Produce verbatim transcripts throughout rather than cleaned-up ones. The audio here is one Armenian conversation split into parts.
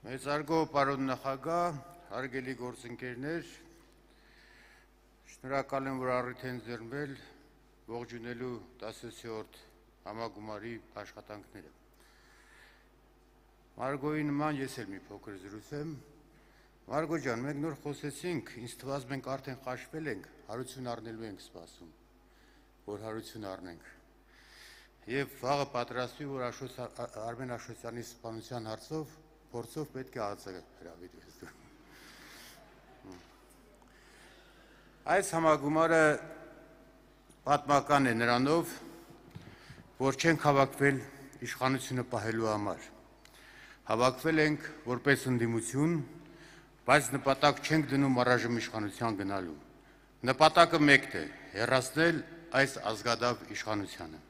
Մեծարգո պարոն նախագահ, հարգելի գործընկերներ, շնորհակալ եմ, որ առիթ են ձեռնվել ողջունելու տասնյոթերորդ համագումարի աշխատանքները։ Մարգոյի նման ես էլ մի փոքր զրուցեմ։ Մարգո ջան, մենք նոր խոսեցինք, ինձ թվաց մենք արդեն խաշվել ենք, հարություն առնելու ենք սպասում, որ հարություն առնենք։ Եվ վաղը պատրաստվի, որ Արմեն Աշոտյանի սպանության հարցով փորձով պետք է ածը հրավիրվես դու։ Այս համագումարը պատմական է նրանով, որ չենք հավաքվել իշխանությունը պահելու համար։ Հավաքվել ենք որպես ընդդիմություն, բայց նպատակ չենք դնում առայժմ իշխանության գնալու։ Նպատակը մեկն է՝ հեռացնել այս ազգադավ իշխանությանը։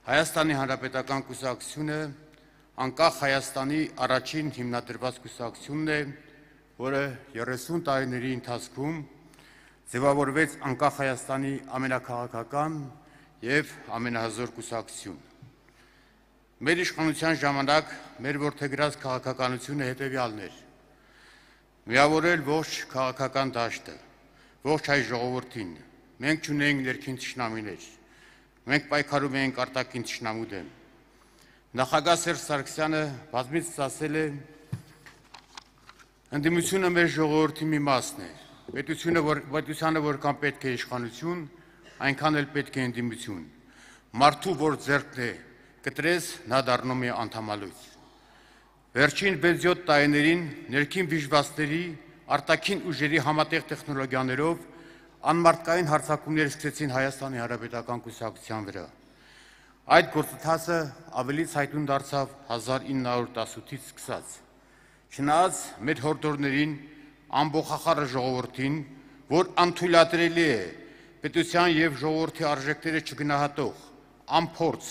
Հայաստանի Հանրապետական կուսակցությունը անկախ Հայաստանի առաջին հիմնադրված կուսակցությունն է, որը երեսուն տարիների ընթացքում ձևավորվեց անկախ Հայաստանի ամենաքաղաքական և ամենահզոր կուսակցություն։ Մեր իշխանության ժամանակ մեր որդեգրած քաղաքականությունը հետևյալն էր՝ միավորել ողջ քաղաքական դաշտը, ողջ հայ ժողովրդին, մենք չունեինք ներքին թշնամիներ, մենք պայքարում էինք արտաքին թշնամու դեմ։ Նախագահ Սերժ Սարգսյանը բազմիցս ասել է, ընդդիմությունը մեր ժողովրդի մի մասն է, պետությանը որքան պետք է իշխանություն, այնքան էլ պետք է ընդդիմություն։ Մարդու որ ձեռքն է կտրես, նա դառնում է անդամալույց։ Վերջին վեց-յոթ տարիներին ներքին վիժվածքների, արտաքին ուժերի համատեղ տեխնոլոգիաներով անմարդկային հարձակումներ սկսեցին Հայաստանի Հանրապետական կուսակցության վրա։ Այդ գործընթացը ավելի ցայտուն դարձավ հազար ինը հարյուր տասնութից սկսած։ Չնայած մեր հորդորներին, ամբողջախառը ժողովրդին, որ անթույլատրելի է պետության և ժողովրդի արժեքները չգնահատող, անփորձ,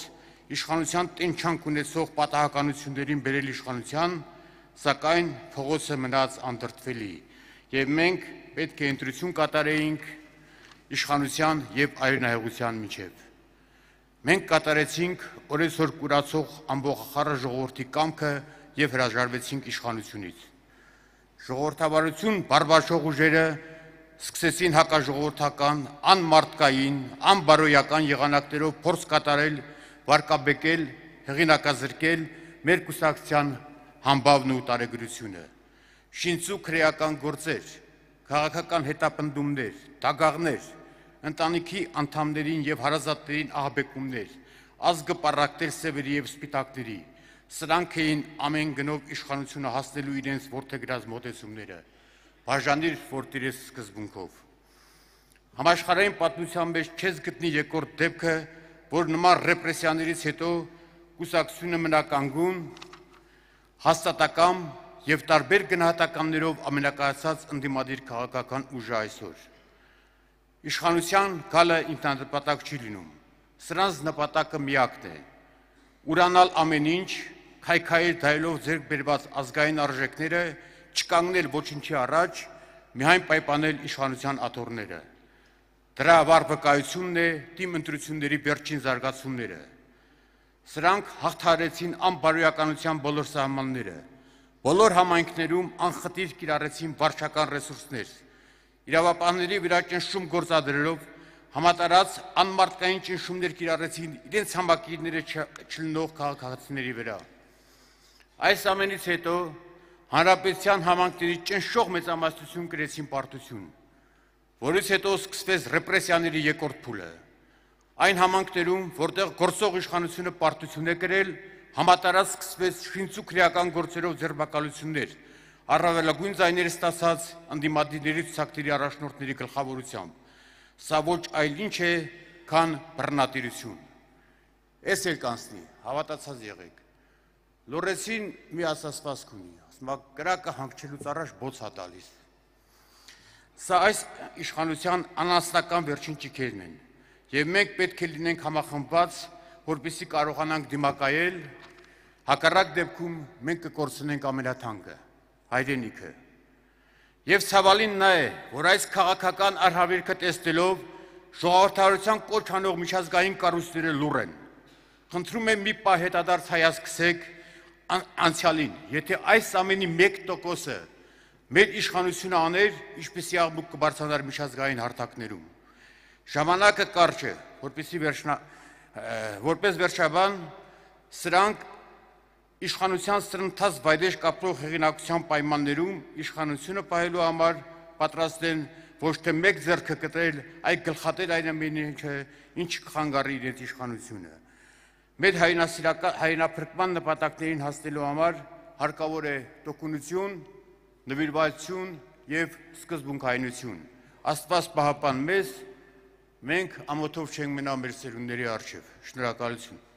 իշխանության տենչանք ունեցող պատահականություններին բերել իշխանության, սակայն փողոցը մնաց անդրդվելի, և մենք պետք է ընտրություն կատարեինք իշխանության և արյունահեղության միջև։ Մենք կատարեցինք օրեցօր կուրացող ամբողջախառը ժողովրդի կամքը և հրաժարվեցինք իշխանությունից։ Ժողովրդավարություն բարբարչող ուժերը սկսեցին հակաժողովրդական, անմարդկային, անբարոյական եղանակներով փորձ կատարել վարկաբեկել, հեղինակազրկել մեր կուսակցության համբավն ու տարեգրությունը։ Շինծու քրեական գործեր, քաղաքական հետապնդումներ, դագաղներ, ընտանիքի անդամներին և հարազատներին ահաբեկումներ, ազգը պառակտել սևերի և սպիտակների, սրանք էին ամեն գնով իշխանությունը հասնելու իրենց որդեգրած մոտեցումները, բաժանիր, որ տիրես սկզբունքով։ Համաշխարհային պատմության մեջ չես գտնի երկրորդ դեպքը, որ նման ռեպրեսիաներից հետո կուսակցությունը մնա կանգուն, հաստատակամ և տարբեր գնահատականներով ամենակայացած ընդդիմադիր քաղաքական ուժը այսօր։ Իշխանության գալը ինքնանպատակ չի լինում, սրանց նպատակը միակն է՝ ուրանալ ամեն ինչ, քայքայել դայելով ձեռք բերված ազգային արժեքները, չկանգնել ոչնչի առաջ, միայն պայմանել իշխանության աթոռները։ Դրա վառ վկայությունն է թիմ ընտրությունների վերջին զարգացումները։ Սրանք հաղթահարեցին անբարոյականության բոլոր սահմանները, բոլոր համայնքներում անխտիր կիրառեցին վարչական ռեսուրսներ, իրավապահների վրա ճնշում գործադրելով համատարած անմարդկային ճնշումներ կիրառեցին իրենց համակիրները չլինող քաղաքացիների վրա։ Այս ամենից հետո հանրապետության համայնքների ճնշող մեծամասնություն կրեցին պարտություն, որից հետո սկսվեց ռեպրեսիաների երկրորդ փուլը։ Այն համայնքներում, որտեղ գործող իշխանությունը պարտություն է կրել, համատարած սկսվեց շինծու քրեական գործերով ձերբակալություններ, առավելագույն ձայներ ստացած ընդդիմադիրների ցուցակների առաջնորդների գլխավորությամբ։ Սա ոչ այլ ինչ է, քան բռնատիրություն։ Էս էլ կանցնի, հավատացած եղեք։ Լոռեցին մի ասացվածք ունի, ասում է կրակը հանգչելուց առաջ բոց է տալիս։ Սա այս իշխանության անասնական վերջին ճիգերն են, և մենք պետք է լինենք համախմբված, որպեսզի կարողանանք դիմակայել, հակառակ դեպքում մենք կկորցնենք ամենաթանկը՝ հայրենիքը։ Եվ ցավալին նա է, որ այս քաղաքական արհավիրքը տեսնելով ժողովրդավարության կոչ անող միջազգային կառույցները լուռ են։ Խնդրում եմ մի պահ հետադարձ հայացք գցեք անցյալին, եթե այս ամենի մեկ տոկոսը մեր իշխանությունը աներ, ինչպեսի աղմուկ կբարձրանար միջազգային հարթակներում։ Ժամանակը կարճ է, որպես վերջաբան սրանք իշխանության սրընթաց վայրեջ կապրող հեղինակության պայմաններում իշխանությունը պահելու համար պատրաստ են ոչ թե մեկ ձեռքը կտրել, այլ գլխատեր այն ամենը, ինչ կխանգարի իրենց իշխանությունը։ Մեր հայրենափրկման նպատակներին հասնելու համար հարկավոր է տոկունություն, նվիրվածություն և սկզբունքայնություն։ Աստված պահապան մեզ, մենք ամոթով չենք մնա մեր սերունդների առջև։ Շնորհակալություն։